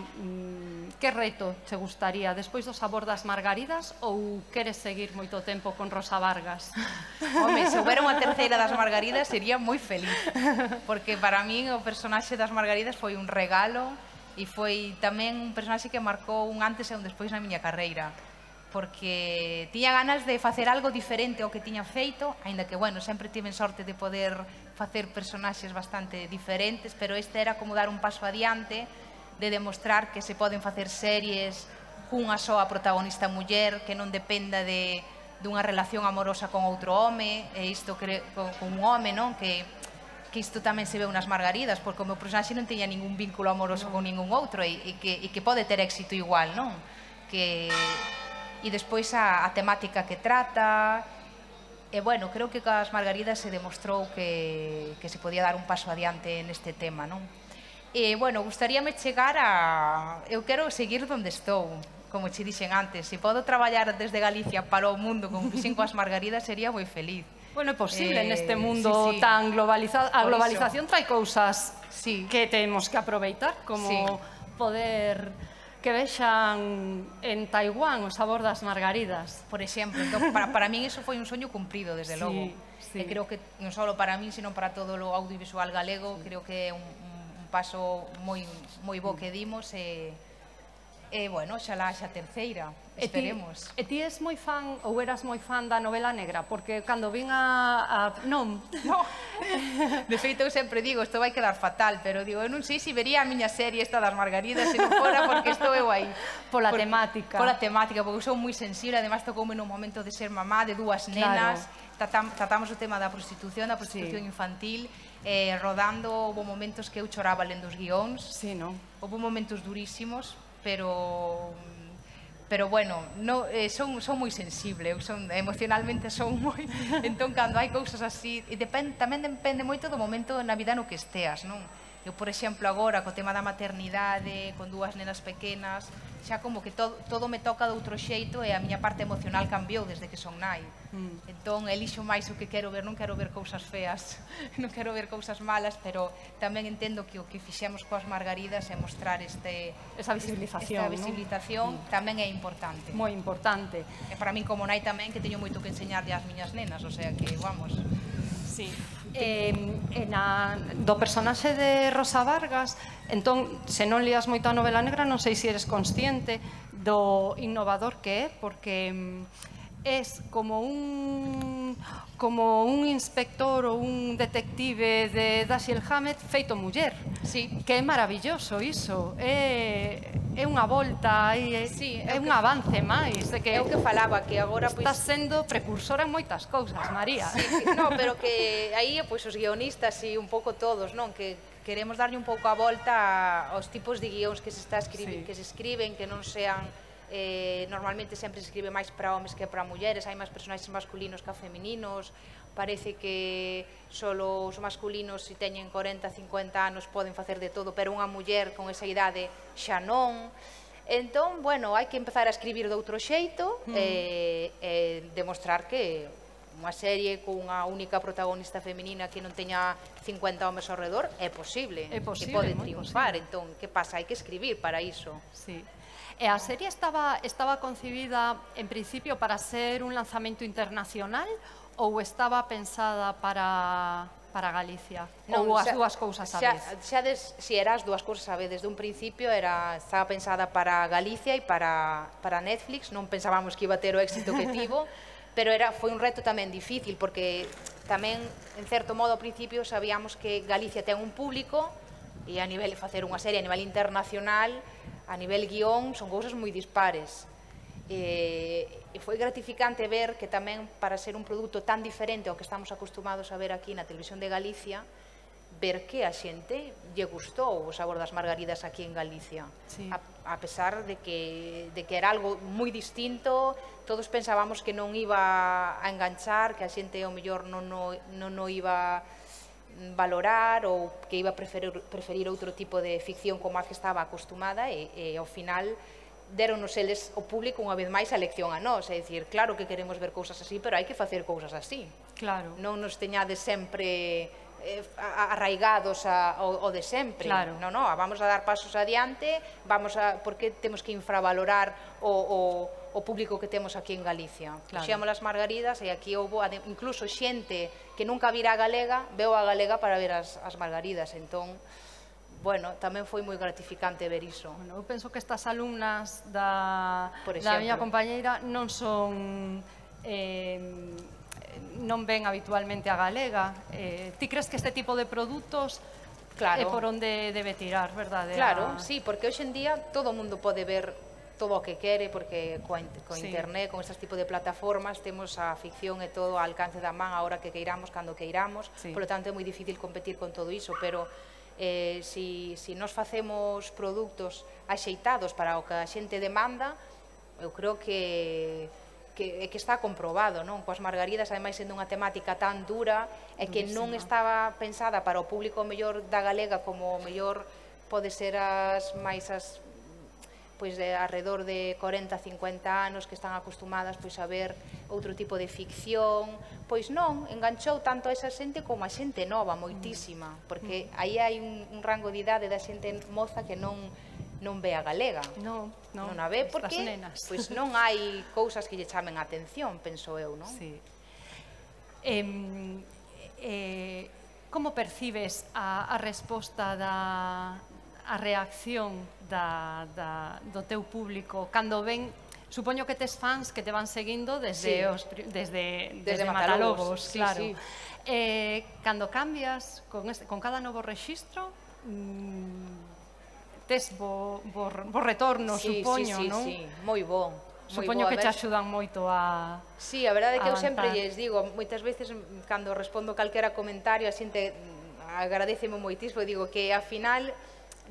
S4: que reto che gustaría despois do sabor das margaridas, ou queres seguir moito tempo con Rosa Vargas?
S3: Home, se houbera unha terceira das margaridas sería moi feliz, porque para min o personaxe das margaridas foi un regalo e foi tamén un personaxe que marcou un antes e un despois na miña carreira, porque tiña ganas de facer algo diferente ao que tiña feito, aínda que, bueno, sempre tiven sorte de poder facer personaxes bastante diferentes, pero este era como dar un paso adiante, de demostrar que se poden facer series cunha soa protagonista muller, que non dependa dunha relación amorosa con outro home, e isto con un home, non? Que isto tamén se ve nas margaridas, porque o meu personaxe non tiña ningún vínculo amoroso con ningún outro, e que pode ter éxito igual, non? Que... E despois a temática que trata, e, bueno, creo que coas margaridas se demostrou que se podía dar un paso adiante neste tema, non? E, bueno, gustaríame chegar a... Eu quero seguir onde estou, como che dixen antes. Se podo traballar desde Galicia para o mundo como fixen coas margaridas, sería moi feliz.
S4: Bueno, é posible neste mundo tan globalizado. A globalización trae cousas que temos que aproveitar, como poder... que vexan en Taiwán o sabor das margaridas.
S3: Por exemplo, para min iso foi un soño cumprido, desde logo. E creo que non só para min, sino para todo o audiovisual galego, creo que é un paso moi bo que dimos e, bueno, xalá xa terceira, esperemos.
S4: E ti és moi fan, ou eras moi fan da novela negra? Porque cando vin a... Non?
S3: De feito, eu sempre digo, isto vai quedar fatal, pero digo, eu non sei se vería a miña serie esta das margaridas se non fora porque estou eu aí.
S4: Pola temática.
S3: Pola temática, porque eu sou moi sensible, además tocoume nun momento de ser mamá de dúas nenas, tratamos o tema da prostitución, da prostitución infantil, rodando, houve momentos que eu choraba lendo os guións, houve momentos durísimos, pero pero bueno, no, eh, son, son moi sensible, eu son, emocionalmente son moi, entón cando hai cousas así, e depend, tamén depende moito do momento na vida no que esteas, non? Eu, por exemplo, agora, co tema da maternidade, con dúas nenas pequenas, xa como que todo, todo me toca de outro xeito e a miña parte emocional cambiou desde que son nai. Mm. Entón, elixo máis o que quero ver, non quero ver cousas feas, non quero ver cousas malas, pero tamén entendo que o que fixemos coas margaridas é mostrar este,
S1: esa visibilización,
S3: esta visibilización, ¿no? Tamén é importante.
S1: Moi importante.
S3: E para min como nai tamén, que teño moito que enseñarlle ás miñas nenas, o sea que, vamos...
S1: Sí. Eh, na, do personaxe de Rosa Vargas, entón, se non lías moito a novela negra, non sei se eres consciente do innovador que é, porque es como un como un inspector ou un detective de Dashiell Hammett feito muller.
S3: Sí.
S1: Que é maravilloso iso. É, é unha volta, é, sí, é, é un que, avance máis. De que
S3: é o que falaba, que agora...
S1: Estás
S3: pois,
S1: sendo precursora en moitas cousas, María.
S3: Sí, que, no, pero que aí pois, os guionistas e un pouco todos, non? Que queremos darlle un pouco a volta aos tipos de guións que se, está escribe, sí. que se escriben, que non sean... Eh, normalmente sempre se escribe máis para homes que para mulleres, hai máis personaxes masculinos que femininos, parece que solo os masculinos se teñen corenta, cincuenta anos poden facer de todo, pero unha muller con esa idade xa non. Entón, bueno, hai que empezar a escribir de outro xeito mm. e, e demostrar que unha serie con unha única protagonista feminina que non teña cincuenta homes ao redor é posible,
S1: é posible,
S3: que pode triunfar.
S1: Posible.
S3: Entón, que pasa? Hai que escribir para iso.
S1: Sí. E a serie estaba, estaba concibida en principio para ser un lanzamento internacional ou estaba pensada para, para Galicia? Non, ou as xa, dúas cousas a
S3: xa,
S1: vez?
S3: Xa des, si era as dúas cousas a vez, desde un principio era, estaba pensada para Galicia e para, para Netflix, non pensábamos que iba a ter o éxito que tivo, pero era, foi un reto tamén difícil, porque tamén, en certo modo, ao principio sabíamos que Galicia ten un público e a nivel de facer unha serie a nivel internacional, a nivel guión, son cousas moi dispares. E, e foi gratificante ver que tamén para ser un produto tan diferente ao que estamos acostumados a ver aquí na televisión de Galicia, ver que a xente lle gustou o sabor das margaridas aquí en Galicia. Sí. A, a pesar de que, de que era algo moi distinto, todos pensábamos que non iba a enganchar, que a xente ao mellor non o non, non iba valorar ou que iba a preferir, preferir outro tipo de ficción como a que estaba acostumada e, e ao final deronos eles o público unha vez máis a lección a nós, é dicir, claro que queremos ver cousas así, pero hai que facer cousas así.
S1: Claro.
S3: Non nos teñades sempre eh, arraigados a, ao, ao de sempre.
S1: Claro.
S3: Non, non, vamos a dar pasos adiante, vamos a, porque temos que infravalorar o, o, o público que temos aquí en Galicia. Claro. Puxemos as margaridas e aquí houve incluso xente que nunca vira a galega, veo a galega para ver as, as margaridas, entón, bueno, tamén foi moi gratificante ver iso.
S1: Bueno, eu penso que estas alumnas da, da miña compañeira non son... Eh, non ven habitualmente a galega. Eh, ti crees que este tipo de produtos claro. é por onde debe tirar, verdade?
S3: Claro, a... sí, porque hoxe en día todo o mundo pode ver todo o que quere, porque coa, coa sí. internet, con estes tipos de plataformas, temos a ficción e todo ao alcance da man a hora que queiramos, cando queiramos, sí. Por lo tanto é moi difícil competir con todo iso, pero eh, si, si nos facemos produtos axeitados para o que a xente demanda, eu creo que que, que está comprobado, non? Coas margaridas, ademais, sendo unha temática tan dura e que non estaba pensada para o público mellor da galega como o mellor pode ser as máis as pois de alrededor de corenta, cincuenta anos que están acostumadas pois a ver outro tipo de ficción, pois non, enganchou tanto a esa xente como a xente nova, moitísima, porque aí hai un, un rango de idade da xente moza que non non ve a galega.
S1: Non, non,
S3: non a ve porque pois non hai cousas que lle chamen a atención, penso eu, non?
S1: Sí. Eh, eh, como percibes a, a resposta da a reacción da, da, do teu público cando ven, supoño que tes fans que te van seguindo desde, sí. os, desde, desde, desde Matalobos,
S3: sí,
S1: claro.
S3: Sí.
S1: Eh, cando cambias con, este, con cada novo rexistro, mmm, tes bo, bo, bo retorno,
S3: sí,
S1: supoño,
S3: sí, sí,
S1: non?
S3: Sí, moi bo.
S1: Supoño que te axudan moito a...
S3: Sí, a verdade é que eu sempre lles digo, moitas veces, cando respondo calquera comentario, a xente agradeceme moitísimo, digo que, ao final,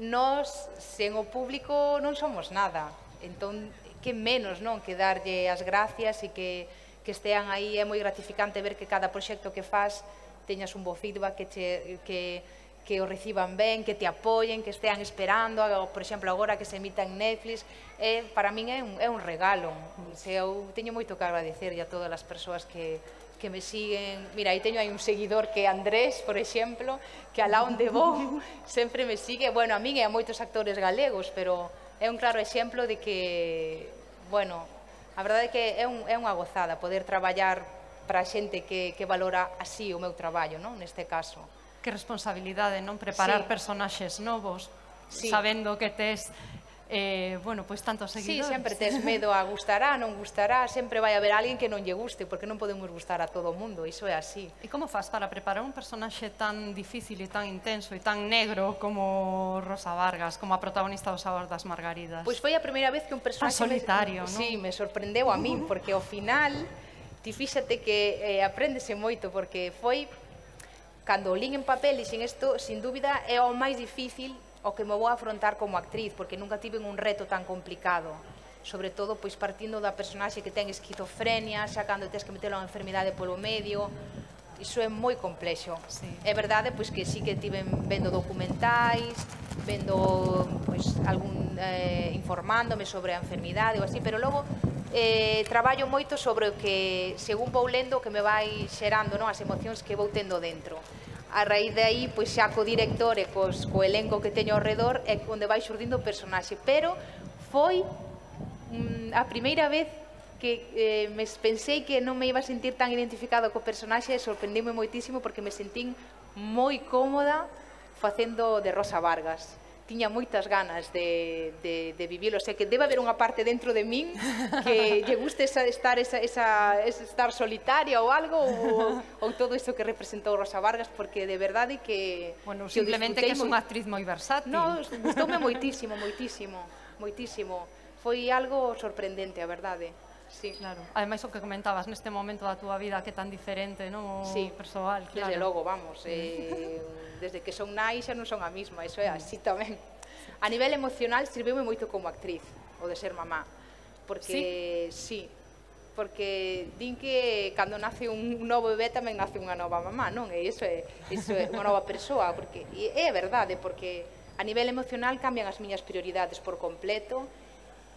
S3: nós, sen o público, non somos nada. Entón, que menos, non? Que darlle as gracias e que, que estean aí. É moi gratificante ver que cada proxecto que faz teñas un bo feedback, que, che, que, que o reciban ben, que te apoyen, que estean esperando, por exemplo, agora que se emita en Netflix, é, para min é un, é un regalo. Se eu teño moito que agradecerlle a todas as persoas que, que me siguen. Mira, aí teño aí un seguidor que é Andrés, por exemplo, que alá onde vou sempre me sigue. Bueno, a min e a moitos actores galegos, pero é un claro exemplo de que, bueno, a verdade é que é, un, é unha gozada poder traballar para a xente que, que valora así o meu traballo, non? Neste caso.
S1: Que responsabilidade, non? Preparar sí. personaxes novos, sí. sabendo que tes Eh, bueno, pois tantos seguidores.
S3: Sí, sempre tes medo a gustará, non gustará, sempre vai haber alguén que non lle guste, porque non podemos gustar a todo o mundo, iso é así.
S1: E como faz para preparar un personaxe tan difícil e tan intenso e tan negro como Rosa Vargas, como a protagonista do Sabor das Margaridas?
S3: Pois foi a primeira vez que un personaxe...
S1: Tan solitario,
S3: me,
S1: non?
S3: Sí, me sorprendeu a min, porque ao final, ti fíxate que eh, apréndese moito, porque foi, cando o lín en papel, e sin isto, sin dúbida, é o máis difícil o que me vou afrontar como actriz, porque nunca tive un reto tan complicado, sobre todo pois partindo da personaxe que ten esquizofrenia, xa cando tens que meter unha enfermidade polo medio, iso é moi complexo.
S1: Sí.
S3: É verdade pois que sí que tive vendo documentais, vendo pois algún eh, informándome sobre a enfermidade ou así, pero logo eh, traballo moito sobre o que, según vou lendo, que me vai xerando, non, as emocións que vou tendo dentro. A raíz de aí, pois xa co director e cos, co elenco que teño ao redor é onde vai xurdindo o personaxe, pero foi mm, a primeira vez que eh, me pensei que non me iba a sentir tan identificado co personaxe e sorprendime moitísimo porque me sentín moi cómoda facendo de Rosa Vargas. Tiña moitas ganas de, de, de vivilo, o sea que debe haber unha parte dentro de min que lle guste esa, estar, esa, esa, esa, estar solitaria ou algo, ou, ou todo iso que representou Rosa Vargas, porque de verdade que...
S1: Bueno, que simplemente que é unha actriz moi versátil.
S3: No, gustoume moitísimo, moitísimo, moitísimo. Foi algo sorprendente, a verdade. Sí.
S1: Claro. Ademais, o que comentabas neste momento da túa vida que é tan diferente, non? O
S3: sí.
S1: persoal, claro.
S3: Desde logo, vamos, eh, desde que son nai xa non son a mesma, iso é así tamén. A nivel emocional sirveume moito como actriz, o de ser mamá, porque sí, sí porque din que cando nace un novo bebé tamén nace unha nova mamá, non? E iso é, iso é unha nova persoa, porque e é verdade, porque a nivel emocional cambian as miñas prioridades por completo,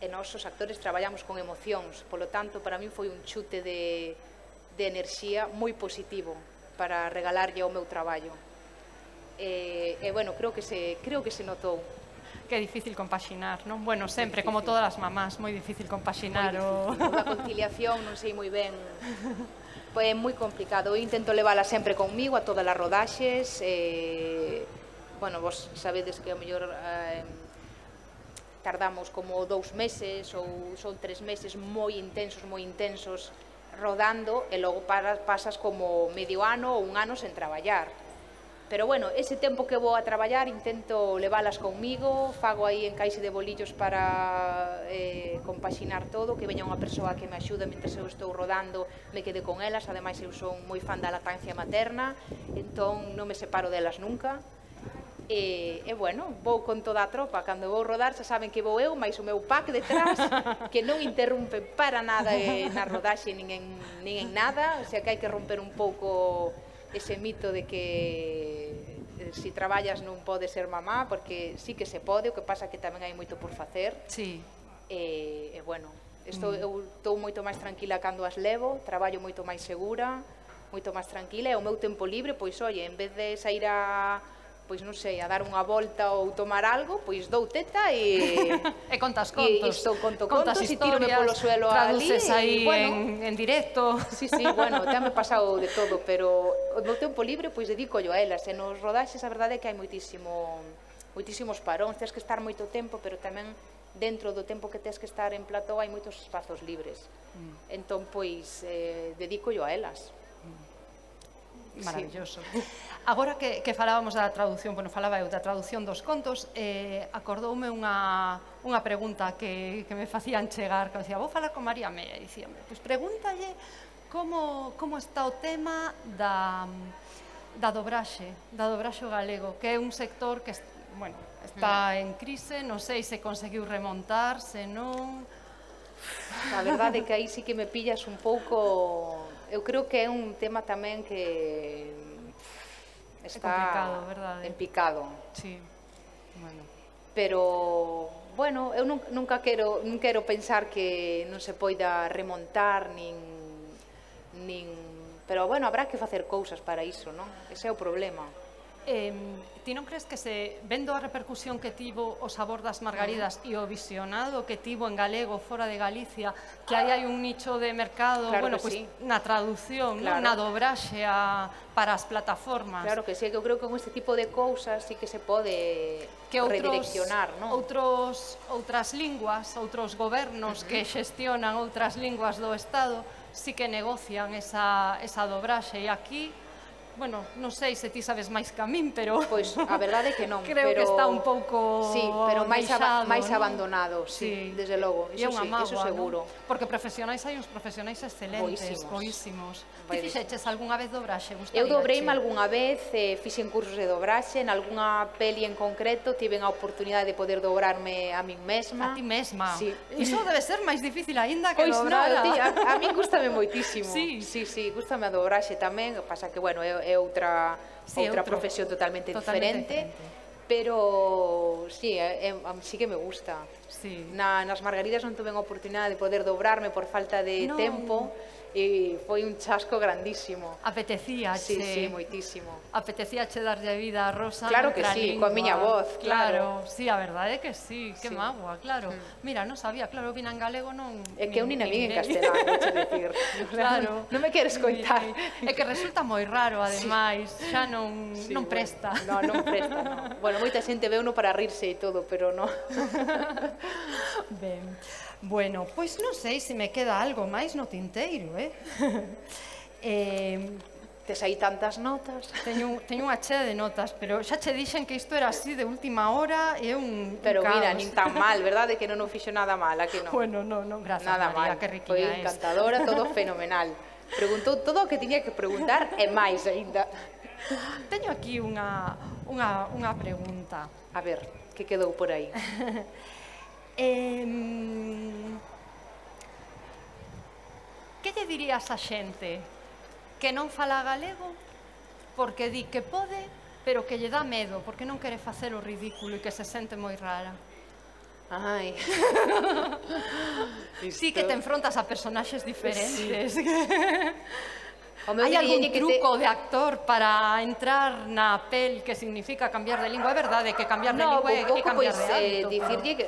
S3: e nós os actores traballamos con emocións, polo tanto, para min foi un chute de, de enerxía moi positivo para regalarlle ao meu traballo. E, e bueno, creo que se, creo que se notou.
S1: Que é difícil compaxinar, non? Bueno, sempre, como todas as mamás, moi difícil compaxinar.
S3: Moi difícil, o... a conciliación non sei moi ben, é moi complicado. Eu intento levala sempre conmigo a todas as rodaxes, e, bueno, vos sabedes que a mellor... Eh, tardamos como dous meses ou son tres meses moi intensos, moi intensos rodando e logo pasas como medio ano ou un ano sen traballar. Pero bueno, ese tempo que vou a traballar intento leválas conmigo, fago aí encaixe de bolillos para eh, compaxinar todo, que veña unha persoa que me axude mentre eu estou rodando, me quede con elas, ademais eu son moi fan da lactancia materna, entón non me separo delas nunca. E, e bueno, vou con toda a tropa, cando vou rodar xa saben que vou eu, máis o meu pack detrás, que non interrumpe para nada eh, na rodaxe nin en, nin en nada, o sea que hai que romper un pouco ese mito de que eh, si traballas non pode ser mamá, porque sí que se pode, o que pasa que tamén hai moito por facer.
S1: Sí.
S3: E, e bueno, estou, mm. eu estou moito máis tranquila cando as levo, traballo moito máis segura, moito máis tranquila, e o meu tempo libre, pois, oye, en vez de sair a... pois non sei, a dar unha volta ou tomar algo, pois dou teta e...
S1: e contas contos.
S3: E estou conto contos e tírome polo suelo ali.
S1: Traduces aí en, en directo.
S3: Sí, sí, bueno, te me pasado de todo, pero o meu tempo libre, pois dedico yo a elas. E nos rodaxes, a verdade é que hai moitísimo, moitísimos paróns, tens que estar moito tempo, pero tamén dentro do tempo que tens que estar en plató hai moitos espazos libres. Mm. Entón, pois, eh, dedico yo a elas.
S1: Maravilloso. Sí. Agora que, que falábamos da traducción, bueno, falaba eu da traducción dos contos, eh, acordoume unha, unha pregunta que, que me facían chegar, que decía, vou falar con María Mea, e dicíame, pois pregúntalle como, como está o tema da, da dobraxe, da dobraxe galego, que é un sector que, bueno, está en crise, non sei se conseguiu remontar, se non...
S3: A verdade é que aí sí que me pillas un pouco... Eu creo que é un tema tamén que está en picado.
S1: Sí, bueno.
S3: Pero, bueno, eu nunca quero, non quero pensar que non se poida remontar, nin, nin... Pero, bueno, habrá que facer cousas para iso, non? Ese é o problema.
S1: Eh, ti non crees que se, vendo a repercusión que tivo o Sabor das Margaridas e o visionado que tivo en galego fora de Galicia, que aí hai un nicho de mercado,
S3: claro
S1: bueno,
S3: pues,
S1: pues,
S3: sí.
S1: na traducción, claro. Na dobraxe a, para as plataformas.
S3: Claro que sí, que eu creo que con este tipo de cousas sí que se pode que outros, redireccionar, non?
S1: Outros, outras linguas, outros gobernos uh -huh. que xestionan outras linguas do Estado, sí que negocian esa, esa dobraxe, e aquí... Bueno, non sei se ti sabes máis que a min, pero...
S3: Pois a verdade é que non,
S1: creo
S3: pero...
S1: que está un pouco
S3: sí, pero máis,
S1: deixado,
S3: aba máis
S1: ¿no?
S3: abandonado, sí, sí, desde logo, iso sí,
S1: mágoa,
S3: eso seguro.
S1: ¿no? Porque profesionais hai uns profesionais excelentes, boísimos. Ti fixeches algunha vez dobraxe?
S3: Eu dobreime algunha vez, eh, fixen cursos de dobraxe, en algunha peli en concreto, tiven a oportunidade de poder dobrarme a min mesma.
S1: A ti mesma?
S3: Sí.
S1: Iso debe ser máis difícil aínda que
S3: pois
S1: dobrar.
S3: Pois non, tía, a, a mí gústame moitísimo.
S1: Sí,
S3: sí, sí, gústame a dobraxe tamén, pasa que, bueno, é, é outra... Sí, outra outro, profesión totalmente, totalmente diferente, diferente, pero sí, é, é, sí que me gusta.
S1: Sí.
S3: Na, nas Margaridas non tuve a oportunidade de poder dobrarme por falta de no. tempo, e foi un chasco grandísimo.
S1: Apetecía,
S3: sí, sí, moitísimo.
S1: Apetecía che darlle vida a Rosa.
S3: Claro que sí, coa miña voz,
S1: Claro,
S3: claro.
S1: sí, a verdade é que sí, que sí. Mágoa, claro. Mm. Mira, non sabía, claro, vina en galego non...
S3: É que eu nin a min en castelán, vou decir.
S1: Claro.
S3: Non me queres coitar.
S1: É que resulta moi raro, ademais, sí. Xa non, sí, non presta.
S3: Bueno, non, non presta, non. Bueno, moita xente veuno para rirse e todo, pero non.
S1: Ben. Bueno, pois non sei se me queda algo máis no tinteiro, eh? eh
S3: Tes aí tantas notas.
S1: Teño, teño unha chea de notas, pero xa che dixen que isto era así de última hora e un,
S3: pero
S1: un caos.
S3: Pero mira, nin tan mal, verdade? Que non o fixo nada mal, a que non?
S1: Bueno, non, non, grazas
S3: nada
S1: María,
S3: mal.
S1: que riquinha
S3: foi encantadora, todo fenomenal. Preguntou todo o que tiña que preguntar e máis aínda.
S1: Teño aquí unha, unha, unha pregunta.
S3: A ver, que quedou por aí?
S1: Eh, que lle dirías a xente que non fala galego porque di que pode, pero que lle dá medo, porque non quere facer o ridículo e que se sente moi rara?
S3: Ai.
S1: Sí que te enfrontas a personaxes diferentes. Sí. Hai algún
S3: que
S1: truco
S3: te...
S1: de actor para entrar na pel que significa cambiar de lingua? É verdade que cambiar de
S3: no,
S1: lingua é, é cambiar
S3: pues,
S1: de hábito.
S3: Eh, dicirlle que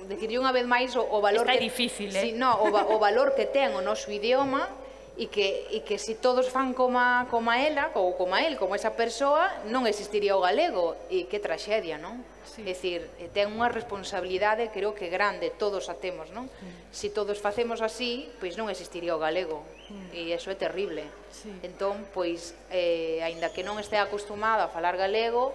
S3: decirlle unha vez máis o, o valor
S1: está
S3: que
S1: difícil, eh?
S3: Sí, no, o, o valor que ten o noso idioma e que e que se todos fan como como ela ou como el, como esa persoa, non existiría o galego, e que traxedia, non?
S1: Sí.
S3: É dicir, ten unha responsabilidade, creo que grande, todos a temos, non? Mm. Se todos facemos así, pois non existiría o galego, mm. e iso é terrible.
S1: Sí.
S3: Entón, pois, eh, aínda que non este acostumada a falar galego,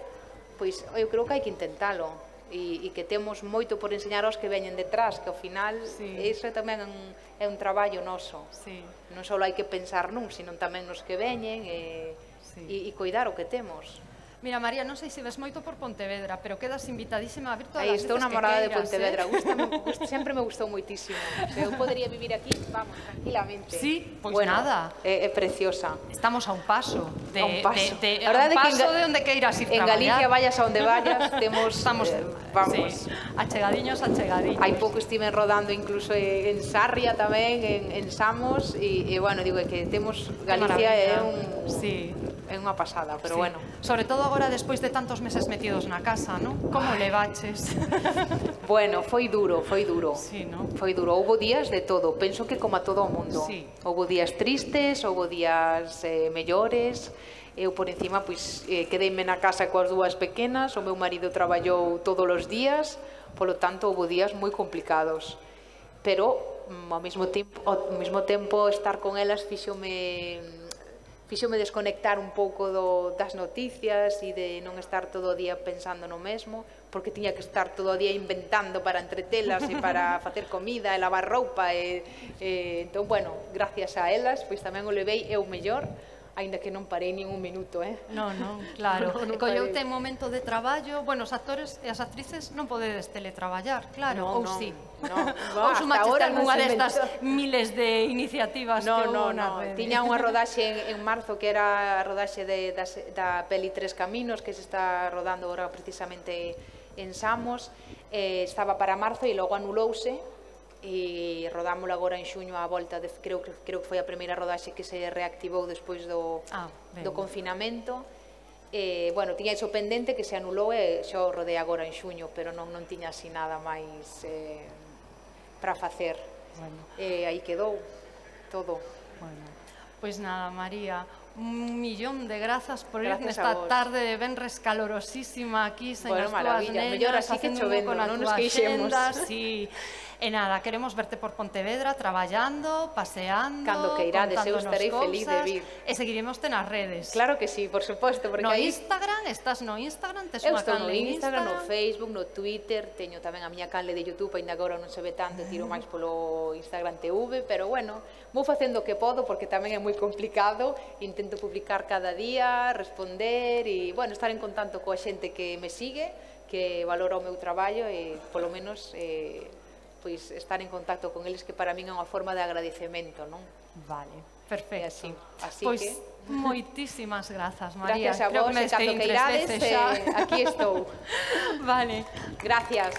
S3: pois eu creo que hai que intentalo. E, e que temos moito por enseñar aos que veñen detrás, que ao final sí. Iso tamén é un, é un traballo noso.
S1: Sí.
S3: Non só hai que pensar nun, sino tamén nos que veñen e, sí. e, e cuidar o que temos.
S1: Mira, María, non sei se ves moito por Pontevedra, pero quedas invitadísima a vir todas
S3: Aí
S1: as veces que
S3: estou namorada de Pontevedra,
S1: eh?
S3: Gústame, gust, sempre me gustou moitísimo. Eu podería vivir aquí, vamos, tranquilamente.
S1: Sí, pois
S3: bueno,
S1: nada.
S3: É, é preciosa.
S1: Estamos a un paso de,
S3: a un paso,
S1: de, de, a un paso de onde queiras ir
S3: en
S1: traballar.
S3: En Galicia, vayas a onde vayas, temos,
S1: Estamos,
S3: eh, vamos.
S1: Sí, achegadiños, achegadiños.
S3: Hai pouco estiven rodando incluso en Sarria tamén, en, en Samos, e, e bueno, digo que temos, Galicia é un...
S1: Sí.
S3: É unha pasada, pero
S1: sí.
S3: bueno.
S1: Sobre todo agora, despois de tantos meses metidos na casa, non? Como levaches?
S3: Bueno, foi duro, foi duro.
S1: Sí, non?
S3: Foi duro. Houbo días de todo. Penso que como a todo o mundo.
S1: Sí.
S3: Houbo días tristes, houbo días eh, mellores. Eu, por encima, pois, eh, quedeime na casa coas dúas pequenas. O meu marido traballou todos os días. Polo tanto, houbo días moi complicados. Pero, ao mesmo tempo, ao mesmo tempo estar con elas fíxome... fíxome desconectar un pouco do, das noticias e de non estar todo o día pensando no mesmo, porque tiña que estar todo o día inventando para entretelas e para facer comida e lavar roupa e, e entón, bueno, gracias a elas, pois tamén o levei eu mellor,
S5: aínda que non parei nin un minuto, eh?
S4: Non, non, claro. E colleute momento de traballo, bueno, os actores e as actrices non podedes teletraballar, claro, ou si. Ou sumaches algunha destas miles de iniciativas que houve na rede.
S5: Tiña unha rodaxe en marzo que era a rodaxe da peli Tres Caminos, que se está rodando agora precisamente en Samos, estaba para marzo e logo anulouse, e rodámoslo agora en xuño á volta, creo que foi a primeira rodaxe que se reactivou despois do confinamento. Bueno, tiña iso pendente que se anulou e xa o rodei agora en xuño, pero non tiña así nada máis para facer. E aí quedou todo.
S4: Pois nada, María, un millón de grazas por ir nesta tarde de venres calorosísima aquí, sen as túas nenas, facendo un pouco na túa xenda. E nada, queremos verte por Pontevedra traballando, paseando,
S5: cando que irades, eu estarei feliz de vir.
S4: E seguiremos te nas redes.
S5: Claro que sí, por suposto.
S4: No Instagram, estás no Instagram, tes unha canle
S5: en Instagram, no Facebook, no Twitter, teño tamén a miña canle de YouTube, ainda agora non se ve tanto, tiro máis polo Instagram T V, pero bueno, vou facendo o que podo porque tamén é moi complicado, intento publicar cada día, responder e, bueno, estar en contacto coa xente que me sigue, que valora o meu traballo e, polo menos, pois estar en contacto con eles, que para min é unha forma de agradecemento, non?
S4: Vale, perfecto.
S5: Pois
S4: moitísimas grazas, María.
S5: Gracias a vos, e cando que irades, aquí estou.
S4: Vale.
S5: Gracias.